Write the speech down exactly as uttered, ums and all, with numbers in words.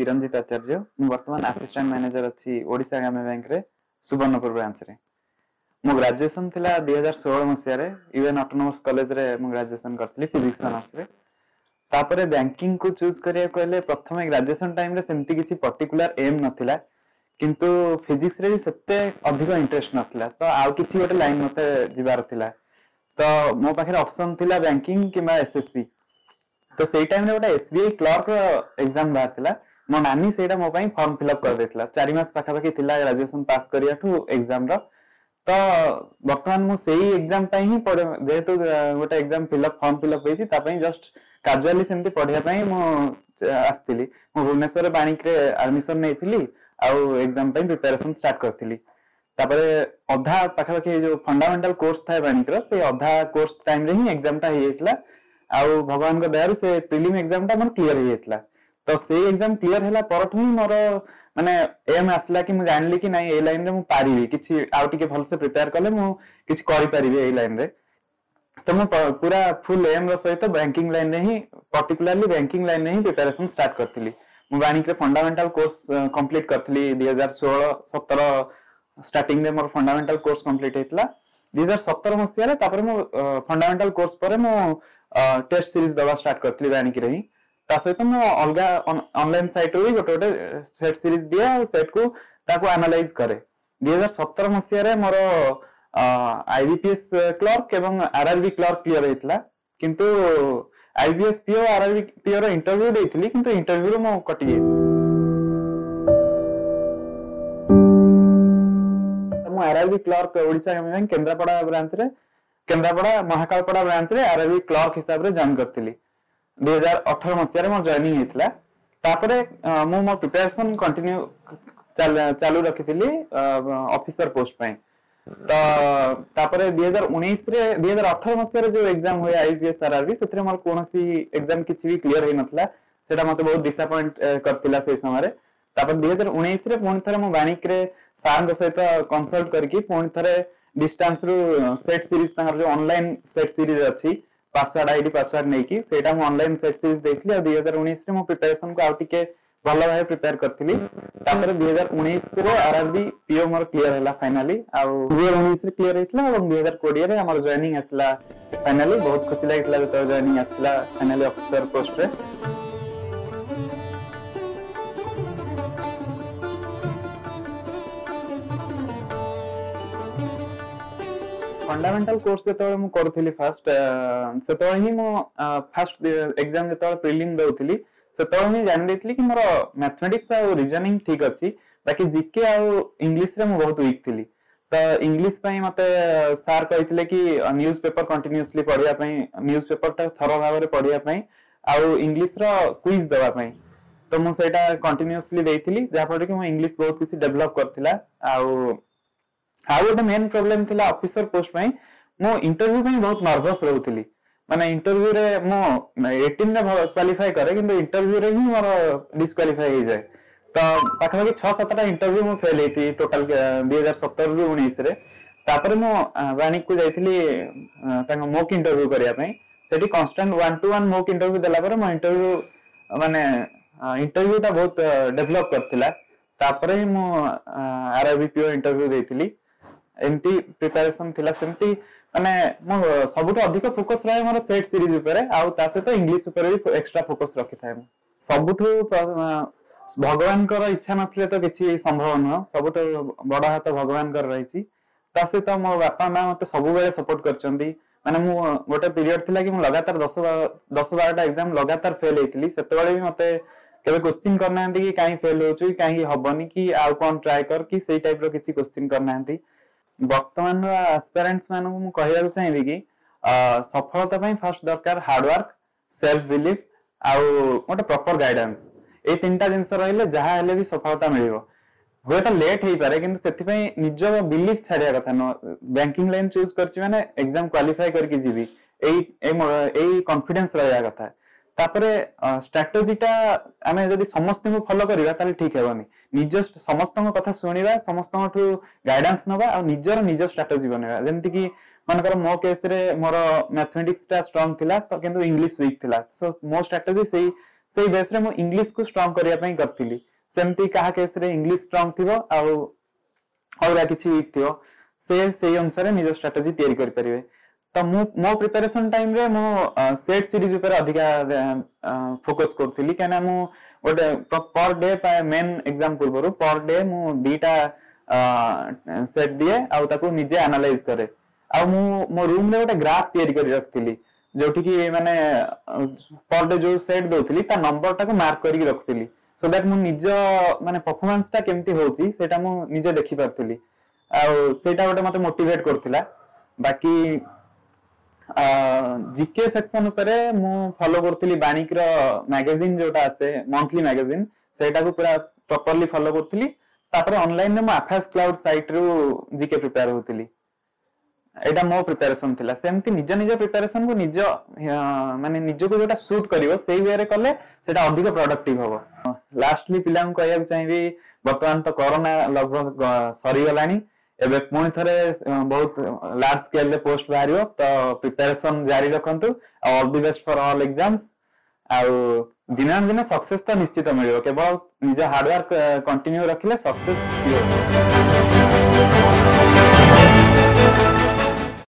କିରଣଜିତ ଆଚାର୍ଯ୍ୟ। ମୁଁ ବର୍ତ୍ତମାନ assistant manager ଅଛି ଓଡ଼ିଶା ଗ୍ରାମ୍ୟ ବ୍ୟାଙ୍କରେ ସୁବର୍ଣ୍ଣପୁର ବ୍ରାଞ୍ଚରେ। ମୋ ଗ୍ରାଜୁଏସନ ଥିଲା ଦୁଇ ହଜାର ଷୋହଳ ମସିହାରେ, ୟୁଏନ୍ ଅଟୋନୋମସ୍ କଲେଜରେ ମୁଁ ଗ୍ରାଜୁଏସନ କରିଥିଲି ଫିଜିକ୍ସ ଅନର୍ସରେ। ତାପରେ ବ୍ୟାଙ୍କିଙ୍ଗକୁ ଚୁଜ୍ କରିବାକୁ ହେଲେ ପ୍ରଥମେ ଗ୍ରାଜୁଏସନ ଟାଇମରେ ସେମିତି କିଛି ପର୍ଟିକୁଲାର ଏମ୍ ନଥିଲା, କିନ୍ତୁ ଫିଜିକ୍ସରେ ବି ସେତେ ଅଧିକ ଇଣ୍ଟରେଷ୍ଟ ନଥିଲା, ତ ଆଉ କିଛି ଗୋଟେ ଲାଇନ ମତେ ଯିବାର ଥିଲା। ତ ମୋ ପାଖରେ ଅପସନ ଥିଲା ବ୍ୟାଙ୍କିଙ୍ଗ କିମ୍ବା ଏସଏସସି। ତ ସେଇ ଟାଇମରେ ଗୋଟେ ଏସବିଆଇ କ୍ଲର୍କ ଏକ୍ସାମ ବାହାରିଥିଲା। ମୋ ନାନୀ ସେଇଟା ମୋ ପାଇଁ ଫର୍ମ ଫିଲ୍ଅପ୍ କରିଦେଇଥିଲା। ଚାରି ମାସ ପାଖାପାଖି ଥିଲା ଗ୍ରାଜୁଏସନ ପାସ୍ କରିବାଠୁ ଏକ୍ସାମର। ତ ବର୍ତ୍ତମାନ ମୁଁ ସେଇ ଏକ୍ସାମ ପାଇଁ ହିଁ, ଯେହେତୁ ଗୋଟେ exam fill up form fill up ହେଇଛି, ତା ପାଇଁ ଜଷ୍ଟ କାଜୁଆଲି ସେମିତି ପଢିବା ପାଇଁ ମୁଁ ଆସିଥିଲି। ମୁଁ ଭୁବନେଶ୍ୱରରେ ବାଣିକରେ ଆଡମିସନ ନେଇଥିଲି ଆଉ ଏକ୍ସାମ ପାଇଁ ପ୍ରିପାରେସନ ଷ୍ଟାର୍ଟ କରିଥିଲି। ତାପରେ ଅଧା ପାଖାପାଖି ଯୋଉ ଫଣ୍ଡାମେଣ୍ଟାଲ କୋର୍ସ ଥାଏ ବାଣିକର, ସେଇ ଅଧା କୋର୍ସ ଟାଇମରେ ହିଁ ଏକ୍ସାମ ଟା ହେଇଯାଇଥିଲା। ଆଉ ଭଗବାନଙ୍କ ଦୟାରୁ ସେ ପ୍ରିଲିମ ଏକ୍ସାମ ଟା ମୋର କ୍ଲିୟର ହେଇଯାଇଥିଲା। ତ ସେଇ ଏକ୍ସାମ କ୍ଲିୟର ହେଲା ପରଠୁ ହିଁ ମୋର ମାନେ ଏମ୍ ଆସିଲା କି ମୁଁ ଜାଣିଲି କି ନାଇଁ, ଏଇ ଲାଇନରେ ମୁଁ ପାରିବି, କିଛି ଆଉ ଟିକେ ଭଲସେ ପ୍ରିପେୟାର କଲେ ମୁଁ କିଛି କରିପାରିବି ଏଇ ଲାଇନରେ। ତ ମୁଁ ପୁରା ଫୁଲ ଏମ୍ ର ସହିତ ବ୍ୟାଙ୍କିଙ୍ଗ ଲାଇନରେ ହିଁ, ପର୍ଟିକୁଲାରଲି ବ୍ୟାଙ୍କିଙ୍ଗ ଲାଇନରେ ହିଁ ପ୍ରିପାରେସନ ଷ୍ଟାର୍ଟ କରିଥିଲି। ମୁଁ ବାଣିକରେ ଫଣ୍ଡାମେଣ୍ଟାଲ କୋର୍ସ କମ୍ପ୍ଲିଟ କରିଥିଲି। ଦୁଇ ହଜାର ଷୋହଳ ସତର ଷ୍ଟାର୍ଟିଂରେ ମୋର ଫଣ୍ଡାମେଣ୍ଟାଲ କୋର୍ସ କମ୍ପ୍ଲିଟ ହେଇଥିଲା ଦୁଇ ହଜାର ସତର ମସିହାରେ। ତାପରେ ମୁଁ ଫଣ୍ଡାମେଣ୍ଟାଲ କୋର୍ସ ପରେ ମୁଁ ଟେଷ୍ଟ ସିରିଜ ଦବା ଷ୍ଟାର୍ଟ କରିଥିଲି ବାଣିକିରେ ହିଁ। ତା ସହିତ ମୁଁ ଅଲଗା ଅନଲାଇନ ସାଇଟରୁ ବି ଗୋଟେ ଗୋଟେ ସେଟ୍ ସିରିଜ ଦିଏ ଆଉ ସେଟ୍କୁ ତାକୁ ଆନାଲାଇଜ କରେ। ଦୁଇ ହଜାର ସତର ମସିହାରେ ମୋର ଆଇବିପିଏସ୍ କ୍ଲର୍କ ଏବଂ ଆରଆରବି କ୍ଲର୍କ କ୍ଲିୟର ହେଇଥିଲା, କିନ୍ତୁ ଆଇବିଏସ୍ ପିଓ ଆରଆରବି ପିଓ ର ଇଣ୍ଟରଭ୍ୟୁ ଦେଇଥିଲି, କିନ୍ତୁ ଇଣ୍ଟରଭ୍ୟୁରୁ ମୁଁ କଟି ଯାଇଥିଲି। ମୁଁ RRB clerk Odisha bank Kendrapara ବ୍ରାଞ୍ଚରେ, କେନ୍ଦ୍ରାପଡ଼ା ମହାକାଳପଡ଼ା ବ୍ରାଞ୍ଚରେ ଆରଆରବି କ୍ଲର୍କ ହିସାବରେ ଜଏନ୍ କରିଥିଲି। ଦୁଇ ହଜାର ଅଠର ମସିହାରେ ମୋର ଜଏନିଂ ହେଇଥିଲା। ତାପରେ ମୁଁ ମୋ ପ୍ରିପାରେସନ କଣ୍ଟିନ୍ୟୁ ଚାଲୁ ରଖିଥିଲି ଅଫିସର ପୋଷ୍ଟ ପାଇଁ। ତ ତାପରେ ଦୁଇ ହଜାର ଉଣେଇଶରେ, ଦୁଇ ହଜାର ଅଠର ମସିହାରେ ଯୋଉ ଏକ୍ସାମ ହୁଏ ଆଇପିଏସ୍ ଆରଆରବି, ସେଥିରେ ମୋର କୌଣସି ଏକ୍ସାମ କିଛି ବି କ୍ଲିୟର ହେଇନଥିଲା। ସେଇଟା ମତେ ବହୁତ ଡିସଆପଏଣ୍ଟ କରିଥିଲା ସେଇ ସମୟରେ। ତାପରେ ଦୁଇ ହଜାର ଉଣେଇଶରେ ପୁଣି ଥରେ ମୁଁ ବାଣିକରେ ସାର୍ଙ୍କ ସହିତ କନସଲ୍ଟ କରିକି ପୁଣି ଥରେ ଡିଷ୍ଟାନ୍ସ ରୁ ସେଟ୍ ସିରିଜ, ତାଙ୍କର ଯୋଉ ଅନଲାଇନ ସେଟ୍ ସିରିଜ ଅଛି, ପାସୱାର୍ଡ ଆଇଡି ପାସୱାର୍ଡ ନେଇକି ସେଇଟା ମୁଁ ଅନଲାଇନ ସେଟ୍ ସିରିଜ ଦେଇଥିଲି। ଆଉ ଦୁଇ ହଜାର ଉଣେଇଶରେ ମୁଁ ପ୍ରିପାରେସନକୁ ଆଉ ଟିକେ ଭଲ ଭାବେ ପ୍ରିପେୟାର କରିଥିଲି। ତାପରେ ଦୁଇ ହଜାର ଉଣେଇଶରେ ଆରଆରବି ପିଓ ମୋର କ୍ଲିୟର ହେଲା ଫାଇନାଲି। ଆଉ ଦୁଇ ହଜାର ଉଣେଇଶରେ କ୍ଲିୟର ହେଇଥିଲା ଏବଂ ଦୁଇ ହଜାର କୋଡିଏରେ ଆମର ଜଏନିଂ ଆସିଲା ଫାଇନାଲି। ବହୁତ ଖୁସି ଲାଗିଥିଲା ଯେତେବେଳେ ଜଏନିଂ ଆସିଲା ଫାଇନାଲି ଅଫିସର ପୋଷ୍ଟରେ। ଫଣ୍ଡାମେଣ୍ଟାଲ କୋର୍ସ ଯେତେବେଳେ ମୁଁ କରୁଥିଲି ଫାଷ୍ଟ, ସେତେବେଳେ ହିଁ ମୁଁ ଫାଷ୍ଟ ଏକ୍ସାମ ଯେତେବେଳେ ପ୍ରିଲିମ ଦଉଥିଲି, ସେତେବେଳେ ହିଁ ଜାଣି ଦେଇଥିଲି କି ମୋର ମ୍ୟାଥମେଟିକ୍ସ ଆଉ ରିଜନିଂ ଠିକ ଅଛି, ବାକି ଜିକେ ଆଉ ଇଂଲିଶରେ ମୁଁ ବହୁତ ୱିକ୍ ଥିଲି। ତ ଇଂଲିଶ ପାଇଁ ମତେ ସାର୍ କହିଥିଲେ କି ନ୍ୟୁଜ ପେପର କଣ୍ଟିନ୍ୟୁସଲି ପଢିବା ପାଇଁ, ନ୍ୟୁଜ ପେପରଟା ଥର ଭାବରେ ପଢିବା ପାଇଁ ଆଉ ଇଂଲିଶର କୁଇଜ ଦେବା ପାଇଁ। ତ ମୁଁ ସେଇଟା କଣ୍ଟିନ୍ୟୁସଲି ଦେଇଥିଲି, ଯାହାଫଳରେ କି ମୋ ଇଂଲିଶ ବହୁତ କିଛି ଡେଭଲପ କରିଥିଲା। ଆଉ ଆଉ ଗୋଟେ ମେନ୍ ପ୍ରୋବ୍ଲେମ ଥିଲା ଅଫିସର ପୋଷ୍ଟ ପାଇଁ, ମୁଁ ଇଣ୍ଟରଭ୍ୟୁ ପାଇଁ ବହୁତ ନର୍ଭସ ରହୁଥିଲି। ମାନେ ଇଣ୍ଟରଭ୍ୟୁରେ ମୁଁ ଏଇଟିନରେ କ୍ୱାଲିଫାଏ କରେ, କିନ୍ତୁ ଇଣ୍ଟରଭ୍ୟୁରେ ହିଁ ମୋର ଡିସକ୍ୱାଲିଫାଏ ହେଇଯାଏ। ତ ପାଖାପାଖି ଛଅ ସାତଟା ଇଣ୍ଟରଭ୍ୟୁ ମୁଁ ଫେଲ୍ ହେଇଥିଲି ଟୋଟାଲ ଦୁଇ ହଜାର ସତରରୁ ଉଣେଇଶରେ। ତାପରେ ମୁଁ ବାଣିକକୁ ଯାଇଥିଲି ତାଙ୍କ ମୋକ୍ ଇଣ୍ଟରଭ୍ୟୁ କରିବା ପାଇଁ। ସେଠି constant one to one mock interview ଦେଲା ପରେ ମୋ ଇଣ୍ଟରଭ୍ୟୁ ମାନେ ଇଣ୍ଟରଭ୍ୟୁଟା ବହୁତ ଡେଭଲପ କରିଥିଲା। ତାପରେ ହିଁ ମୁଁ ଆରଆରବି ପିଓ ଇଣ୍ଟରଭ୍ୟୁ ଦେଇଥିଲି। ଏମିତି ପ୍ରିପାରେସନ ଥିଲା ସେମିତି। ମାନେ ମୁଁ ସବୁଠୁ ଅଧିକ ଫୋକସ ରହେ ମୋର ସେଟ୍ ସିରିଜ ଉପରେ, ଆଉ ତା ସହିତ ଇଂଲିଶ ଉପରେ ବି ଏକ୍ସଟ୍ରା ଫୋକସ ରଖିଥାଏ ମୁଁ। ସବୁଠୁ ଭଗବାନଙ୍କର ଇଚ୍ଛା ନଥିଲେ ତ କିଛି ସମ୍ଭବ ନୁହଁ। ସବୁଠୁ ବଡ ହାତ ଭଗବାନଙ୍କର ରହିଛି। ତା ସହିତ ମୋ ବାପା ମା ମତେ ସବୁବେଳେ ସପୋର୍ଟ କରିଛନ୍ତି। ମାନେ ମୁଁ ଗୋଟେ ପିରିୟଡ ଥିଲା କି ମୁଁ ଲଗାତାର ଦଶ ଦଶ ବାରଟା ଏକ୍ସାମ ଲଗାତାର ଫେଲ ହେଇଥିଲି, ସେତେବେଳେ ବି ମତେ କେବେ କୋଶ୍ଚିନ୍ କରିନାହାନ୍ତି କି କାହିଁ ଫେଲ ହଉଛୁ, କି କାହିଁକି ହବନି, କି ଆଉ କଣ ଟ୍ରାଏ କର, କି ସେଇ ଟାଇପ ର କିଛି କୋଶ୍ଚିନ୍ କରିନାହାନ୍ତି। ବର୍ତ୍ତମାନର ଆସ୍ପାରାଣ୍ଟସ ମାନଙ୍କୁ ମୁଁ କହିବାକୁ ଚାହିଁବି କି ସଫଳତା ପାଇଁ ଫାର୍ଷ୍ଟ ଦରକାର ହାର୍ଡୱାର୍କ, ସେଲ୍ଫ ବିଲିଫ ଆଉ ଗୋଟେ ପ୍ରପର ଗାଇଡାନ୍ସ। ଏଇ ତିନିଟା ଜିନିଷ ରହିଲେ ଯାହା ହେଲେ ବି ସଫଳତା ମିଳିବ। ହୁଏତ ଲେଟ୍ ହେଇପାରେ, କିନ୍ତୁ ସେଥିପାଇଁ ନିଜ ବିଲିଫ ଛାଡିବା କଥା ନୁହଁ। ବ୍ୟାଙ୍କିଙ୍ଗ ଲାଇନ ଚୁଜ କରିଛି ମାନେ ଏକ୍ସାମ କ୍ୱାଲିଫାଏ କରିକି ଯିବି, ଏଇ ଏଇ କନଫିଡେନ୍ସ ରହିବା କଥା। ତାପରେ ଷ୍ଟ୍ରାଟେଜିଟା ଆମେ ଯଦି ସମସ୍ତଙ୍କୁ ଫଲୋ କରିବା ତାହେଲେ ଠିକ ହେବନି। ନିଜ ସମସ୍ତଙ୍କ କଥା ଶୁଣିବା, ସମସ୍ତଙ୍କଠୁ ଗାଇଡାନ୍ସ ନବା ଆଉ ନିଜର ନିଜ ଷ୍ଟ୍ରାଟେଜି ବନେଇବା। ଯେମିତି କି ମନେକର ମୋ କେସରେ ମୋର ମ୍ୟାଥମେଟିକ୍ସ ଟା ଷ୍ଟ୍ରଙ୍ଗ ଥିଲା, ତ କିନ୍ତୁ ଇଂଲିଶ ୱିକ୍ ଥିଲା। ସୋ ମୋ ଷ୍ଟ୍ରାଟେଜି ସେଇ ସେଇ ବେସ୍ରେ ମୁଁ ଇଂଲିଶକୁ ଷ୍ଟ୍ରଙ୍ଗ କରିବା ପାଇଁ କରିଥିଲି। ସେମିତି କାହା କେସରେ ଇଂଲିଶ ଷ୍ଟ୍ରଙ୍ଗ ଥିବ ଆଉ ଅଲଗା କିଛି ୱିକ୍ ଥିବ, ସେ ସେଇ ଅନୁସାରେ ନିଜ ଷ୍ଟ୍ରାଟେଜି ତିଆରି କରିପାରିବେ। ତ ମୁଁ ମୋ ପ୍ରିପାରେସନ ଟାଇମରେ ମୁଁ ସେଟ୍ ସିରିଜ ଉପରେ ଅଧିକା ଫୋକସ କରୁଥିଲି, କାହିଁକିନା ମୁଁ ଗୋଟେ ପର ଡେ, ମେନ୍ ଏକ୍ସାମ ପୂର୍ବରୁ ପର ଡେ ମୁଁ ଦିଟା ସେଟ୍ ଦିଏ ଆଉ ତାକୁ ନିଜେ ଆନାଲାଇଜ କରେ। ଆଉ ମୁଁ ମୋ ରୁମରେ ଗୋଟେ ଗ୍ରାଫ ତିଆରି କରି ରଖିଥିଲି, ଯୋଉଠିକି ମାନେ ପର ଡେ ଯୋଉ ସେଟ୍ ଦଉଥିଲି ତା ନମ୍ବରଟାକୁ ମାର୍କ କରିକି ରଖୁଥିଲି, ସୋ that ମୁଁ ନିଜ ମାନେ ପରଫର୍ମାନ୍ସ ଟା କେମିତି ହଉଛି ସେଇଟା ମୁଁ ନିଜେ ଦେଖିପାରୁଥିଲି, ଆଉ ସେଇଟା ଗୋଟେ ମତେ ମୋଟିଭେଟ କରୁଥିଲା। ବାକି ଜିକେ ସେକ୍ସନ ଉପରେ ମୁଁ ଫଲୋ କରୁଥିଲି ବାଣିକର ମ୍ୟାଗାଜିନ, ଯୋଉଟା ଆସେ ମନ୍ଥଲି ମ୍ୟାଗାଜିନ, ସେଇଟାକୁ ପୁରା ପ୍ରପରଲି ଫଲୋ କରୁଥିଲି। ତାପରେ ଅନଲାଇନରେ ମୁଁ ଆଫାସ୍ କ୍ଲାଉଡ ସାଇଟ୍ ରୁ ଜିକେ ପ୍ରିପେୟାର ହଉଥିଲି। ଏଇଟା ମୋ ପ୍ରିପାରେସନ ଥିଲା। ସେମିତି ନିଜ ନିଜ ପ୍ରିପାରେସନ କୁ ନିଜ ମାନେ ନିଜକୁ ଯୋଉଟା ସୁଟ୍ କରିବ ସେଇ ୱେରେ କଲେ ସେଇଟା ଅଧିକ ପ୍ରଡକ୍ଟିଭ ହବ। ଲାଷ୍ଟଲି ପିଲାଙ୍କୁ କହିବାକୁ ଚାହିଁବି, ବର୍ତ୍ତମାନ ତ କରୋନା ଲଗଭଗ ସରିଗଲାଣି, ଏବେ ପୁଣି ଥରେ ବହୁତ ଲାର୍ଜ ସ୍କେଲରେ ପୋଷ୍ଟ ବାହାରିବ, ତ ପ୍ରିପାରେସନ ଜାରି ରଖନ୍ତୁ ଆଉ all the best for all exams. ଆଉ ଦିନେ ନା ଦିନେ ସକ୍ସେସ ତ ନିଶ୍ଚିତ ମିଳିବ, କେବଳ ନିଜ ହାର୍ଡୱାର୍କ କଣ୍ଟିନ୍ୟୁ ରଖିଲେ ସକ୍ସେସ ସିଓର।